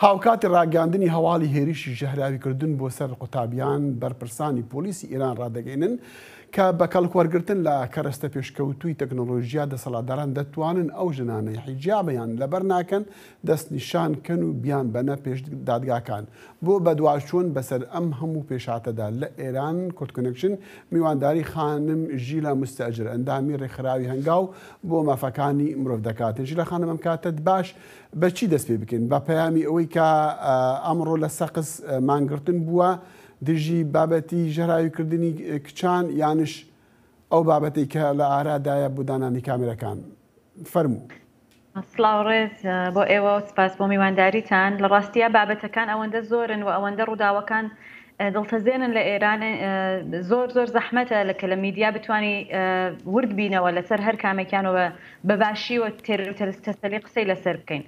هاوکاتی ڕاگەیاندنی هەواڵی هێرشی ژەهراویکردن بۆ سەر قوتابیان، بەرپرسانی پۆلیسی ئێران ڕادەگەینن کە بە کەڵکوەرگرتن لە کەرەستە پێشکەوتووی تەکنۆلۆژیا دەسەڵاتداران دەتوانن ئەو ژنانەی حیجابیان لەبەر ناکەن دەستنیشان کەن و بیانبەنە پێش دادگاکان. بۆ بەدواچوون بەسەر ئەم هەموو پێشهاتەدا لە ئێران، کوردکۆنێکشن میوانداری خانم ژیلا موستەئجر ئەندامی ڕێکخراوی هەنگاو بۆ مافەکانی مرۆڤ دەکات. ژیلا خانم ئەم کاتەت باش. بە چی دەست پێ بکەین؟ بە پەیامی ئەوەی کە ئەمڕۆ لە سەقز مانگرتن بووە دژی بابەتی ژەهراویکردنی کچان یانش ئەو بابەتەی کە لە ئارادایە بۆ دانانی کامێرەکان؟ فەرموو. سڵاو ڕێز بۆ ئێوە و سپاس بۆ میوانداریتان. لە ڕاستیا بابەتەکان ئەوەندە زۆرن و ئەوەندە ڕووداوەکان دڵتەزێنن لە ئێران زۆر زۆر زەحمەتە لە کە لە میدیا بتانی ورد بینەوە لەسەر هەر کامێکیان و بە باشی و تێر و تەسەلی قسەی لەسەر بکەین.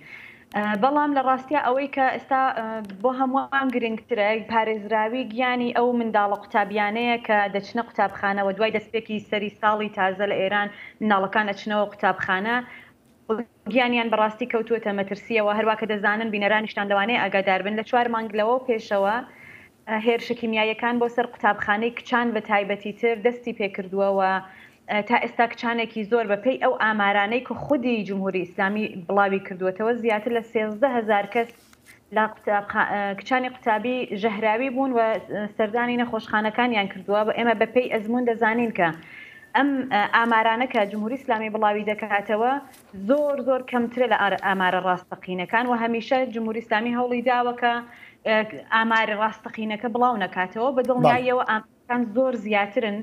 بەڵام لە ڕاستیا ئەوەی کە ئێستا بۆ هەمووان گرنگترە پارێزراوی گیانی ئەو منداڵە قوتابیانەیە کە دەچنە قوتابخانەوە دوای دەستپێکی سەری ساڵی تازە لە ئێران منداڵەکان ئەچنەوە قوتابخانە گیانیان بەڕاستی کەوتووەتە مەترسییەوە، هەروا کە دەزانن بینەرانیشتان لەوانەیە ئاگادار بن لە چوار مانگ لەوە پێشەوە هێرشە کیمیاییەکان بۆ سەر قوتابخانەی کچان بە تایبەتیتر دەستی پێکردووە و تا ئێستا کچانێکی زۆر بە پێی ئەو ئامارانەی کە خودی جمهوری ئیسلامی بڵاوی کردووەتەوە زیاتر لە 13 هەزار کەس لە کچانی قوتابی ژەهراوی بوون و سەردانی نەخۆشخانەکانیان کردووە و ئێمە بە پێی ئەزموون دەزانین کە ئەم ئامارانە کە جمهوری ئیسلامی بڵاوی دەکاتەوە زۆر زۆر کەمترە لە ئامارە ڕاستەقینەکان و هەمیشە جمهوری ئیسلامی هەوڵی داوە کە ئاماری ڕاستەقینەکە بڵاو نەکاتەوە بە دڵنیاییەوە ئامارەکان زۆر زیاترن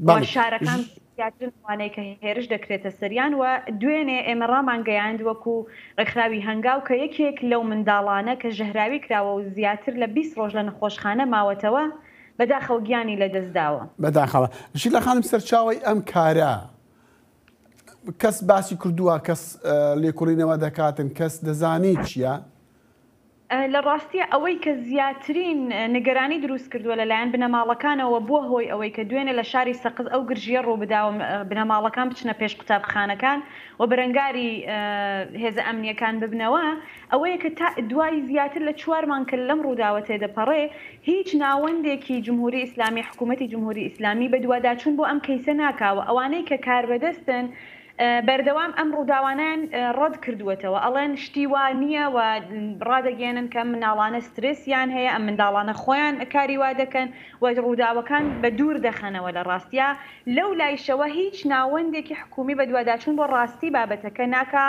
و شارەکان زیاترن ئەوانەی کە هێرش دەکرێتە سەریان و دوێنێ ئێمە ڕامانگەیاند وەکو ڕێکخراوی هەنگاو کە یەکێک لەو منداڵانە کە ژەهراوی کراوە و زیاتر لە 20 ڕۆژ لە نەخۆشخانە ماوەتەوە بەداخەوە گیانی لەدەستداوە. بەداخەوە. ژیلا خانم سەرچاوەی ئەم کارە کەس باسی کردووە کەس لێکۆڵینەوە دەکاتن کەس دەزانێ چییە؟ لە ڕاستیا ئەوەی کە زیاترین نیگەرانی دروست کردووە لە لایەن بنەماڵەکانەوە بووە هۆی ئەوەی کە دوێنێ لە شاری سەقز ئەو گرژییە ڕووبدا و بنەماڵەکان بچنە پێش قوتابخانەکان و بەرەنگاری هێزە ئەمنییەکان ببنەوە ئەوەیە کە تا دوای زیاتر لە چوار مانگ کە لەم ڕووداوە تێدەپەڕێ هیچ ناوەندێکی جمهوری ئیسلامی حکوومەتی جمهوری ئیسلامی بەدواداچوون بۆ ئەم کەیسە ناکا و ئەوانەی کە کاربەدەستن بەردەوام ئەم ڕووداوانەیان ڕەت کردووەتەوە، ئەڵێن شتی وا نییە و ڕادەگەیەنن کە ئەم منداڵانە سترێسیان هەیە، ئەم منداڵانە خۆیان کاری وا دەکەن و ڕووداوەکان بە دوور دەخەنەوە لە ڕاستیا. لەو لایشەوە هیچ ناوەندێکی حکوومی بەدواداچوون بۆ ڕاستی بابەتەکە ناکا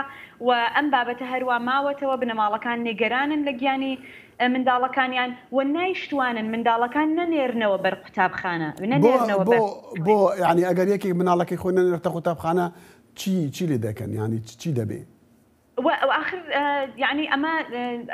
و ئەم بابەتە هەروا ماوەتەوە، بنەماڵەکان نیگەرانن لە گیانی منداڵەکانیان و نایشتوانن منداڵەکان نەنێرنەوە بەر قوتابخانە بۆ نەنێرنەوە بۆ بەر بۆ یانی ئەگەر یەکێک مناڵەکەی خۆی نەنێرتە قوتابخانە چی چی لێ دەکەن یانی چی دەبێ؟ و ئاخر یانی ئەمە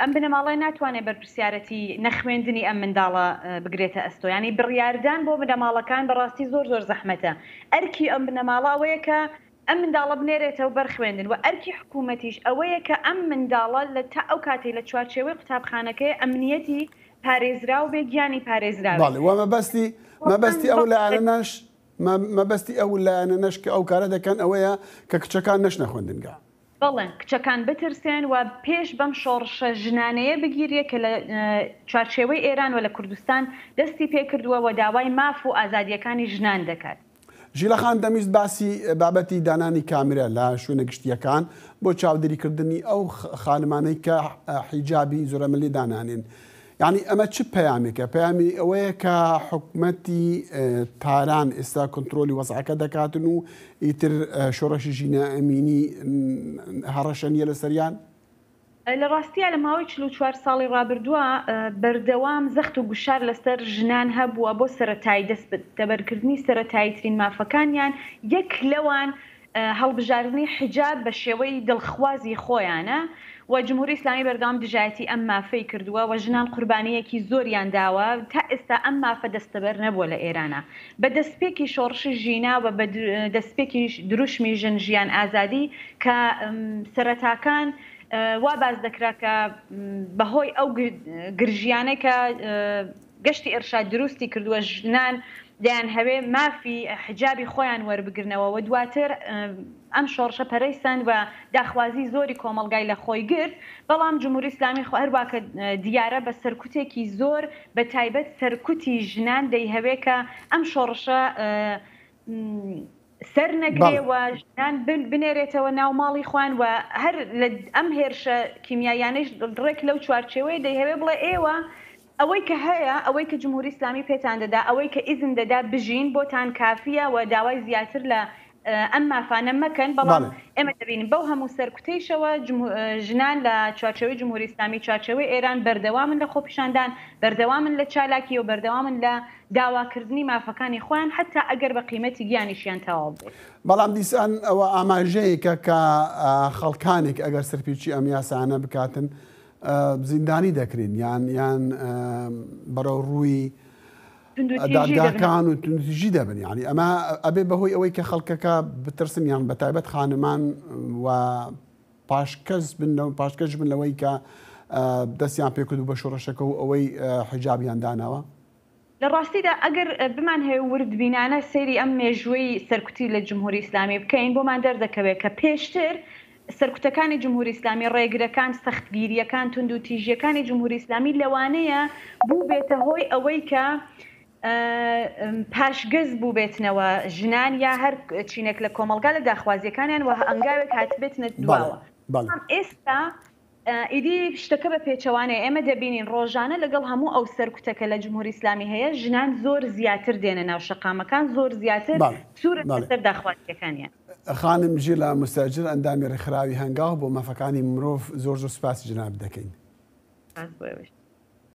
ئەم بنەماڵەیە ناتوانێت بەرپرسیارەتی نەخوێندنی ئەم منداڵە بگرێتە ئەستۆ یانی بڕیاردان بۆ بنەماڵەکان بەڕاستی زۆر زۆر زەحمەتە ئەرکی ئەم بنەماڵە ئەوەیە کە ئەم منداڵە بنێرێتەوە بەر خوێندن و ئەرکی حکوومەتیش ئەوەیە کە ئەم منداڵە لە تا ئەو کاتەی لە چوارچێوەی قوتابخانەکەی ئەمنییەتی پارێزراو بێ، گیانی پارێزراوێ. بەڵێ و مەبەستی مەبەستی ئەو لایەنەنەش مەبەستی ئەو لایەنەنەش کە ئەو کارە دەکەن ئەوەیە کە کچەکان نەچنە خوێندنگا. بەڵێ کچەکان بترسێن و پێش بەم شۆڕشە ژنانەیە بگیرێ کە لە چوارچێوەی ئێران و لە کوردستان دەستی پێکردووە و داوای ماف و ئازادییەکانی ژنان دەکات. ژیلا خان دەمویست باسی بابەتی دانانی کامرە لە شوێنە گشتییەکان بۆ چاودێریکردنی ئەو خانمانەی کە حیجابی زۆرەملی دانانێن. یانی ئەمە چ پەیامێکە؟ پەیامی ئەوەیە کە حکومەتی تاران ئێستا کۆنترۆلی وەزعەکە دەکاتن و ئیتر شۆڕشی ژینا ئەمینی هەڕەشە نییە لەسەریان؟ لە ڕاستیا لە ماوەی 44 ساڵی ڕابردووە بەردەوام زەخت و گوشار لەسەر ژنان هەبووە بۆ سەرەتایی دەستەبەرکردنی سەرەتاییترین مافەکانیان، یەک لەوان هەڵبژاردنی حیجاب بە شێوەی دڵخوازی خۆیانە و جمهوری ئیسلامی بەردەوام دژایەتی ئەم مافەی کردووە و ژنان قوربانییەکی زۆریان داوە تا ئێستا ئەم مافە دەستەبەر نەبووە لە ئێرانا بە دەستپێکی شۆڕشی ژینا و بە دەستپێکی دروشمی ژن ژیان ئازادی کە سەرەتاکان وا باس دەکرا کە بەهۆی ئەو گرژیانەی کە گەشتی ئێرشاد دروستی کردووە ژنان دەیانهەوێ مافی حیجابی خۆیان وەربگرنەوە و دواتر ئەم شۆڕشە پەرەی سەند و داخوازی زۆری کۆمەڵگای لە خۆی گرت، بەڵام جمهوری ئیسلامی خۆ هەروا کە دیارە بە سەرکوتێکی زۆر بە تایبەت سەرکوتی ژنان دەیهەوێ کە ئەم شۆڕشە سەر نەگرێ و ژنان بنێرێتەوە ناو ماڵی خۆیان و هەر لە ئەم هێرشە کیمیاییانەیش ڕێک لەو چوارچێوەیە دەیهەوێ بڵێ ئێوە ئەوەی کە هەیە، ئەوەی کە جمهوری ئیسلامی پێتان دەدا، ئەوەی کە ئیزن دەدا بژین بۆتان کافییە و داوای زیاتر لە ئەم مافانە مەکەن، بەڵام ئێمە دەبینین بەو هەموو سەرکوتەیشەوە ژنان لە چوارچێوەی جمهوری ئیسلامی، چوارچێوەی ئێران بەردەوامن لە خۆپیشاندان، بەردەوامن لە چالاکی و بەردەوامن لە داواکردنی مافەکانی خۆیان حەتا ئەگەر بە قیمەتی گیانیشیان تەواو بێت. بەڵام دیسان ئەوە ئاماژەیەکە کە خەڵکانێک ئەگەر سەرپێچی ئەم یاسایانە بکاتن زیندانی دەکرێن یان یان بەرەو ڕووی دادگاکان و توندوتیژی دەبن یعنی ئەمە ئەبێ بەهۆی ئەوەی کە خەڵکەکە بترسن یان بەتایبەت خانمان و پاشکەس بن پاشکەش بن لەوەی کە دەستیان پێکرد و بە شۆڕشەکە و ئەوەی حیجابیان داناوە. لە ڕاستیدا ئەگەر بمانهەوێ وردبینانە سەیری ئەم مێژووەی سەرکوتی لە جمهوری ئیسلامی بکەین بۆمان دەردەکەوێ کە پێشتر سەرکوتەکانی جمهوری ئیسلامی، ڕێگرەکان، سەختگیرییەکان، توندوتیژییەکانی جمهوری ئیسلامی لەوانەیە بووبێتە هۆی ئەوەی کە پاشگەز بووبێتنەوە ژنان یا هەر چینێک لە کۆمەڵگا لە داخوازییەکانیان و هەنگاوێک هاتبێتنە دواوە. بەڵام ئێستا ئیدی شتەکە بە پێچەوانەیە، ئێمە دەبینین ڕۆژانە لەگەڵ هەموو ئەو سەرکوتە کە لە جمهوری ئیسلامی هەیە، ژنان زۆر زیاتر دێنە ناو شەقامەکان، زۆر زیاتر سوورن لەسەر داخوازییەکانیان. خانم ژیلا موستەئجر ئەندامی ڕێکخراوی هەنگاو بۆ مافەکانی مرۆڤ زۆر زۆر سوپاسی جەنابت دەکەین. سوپاس بۆ ئێوەش.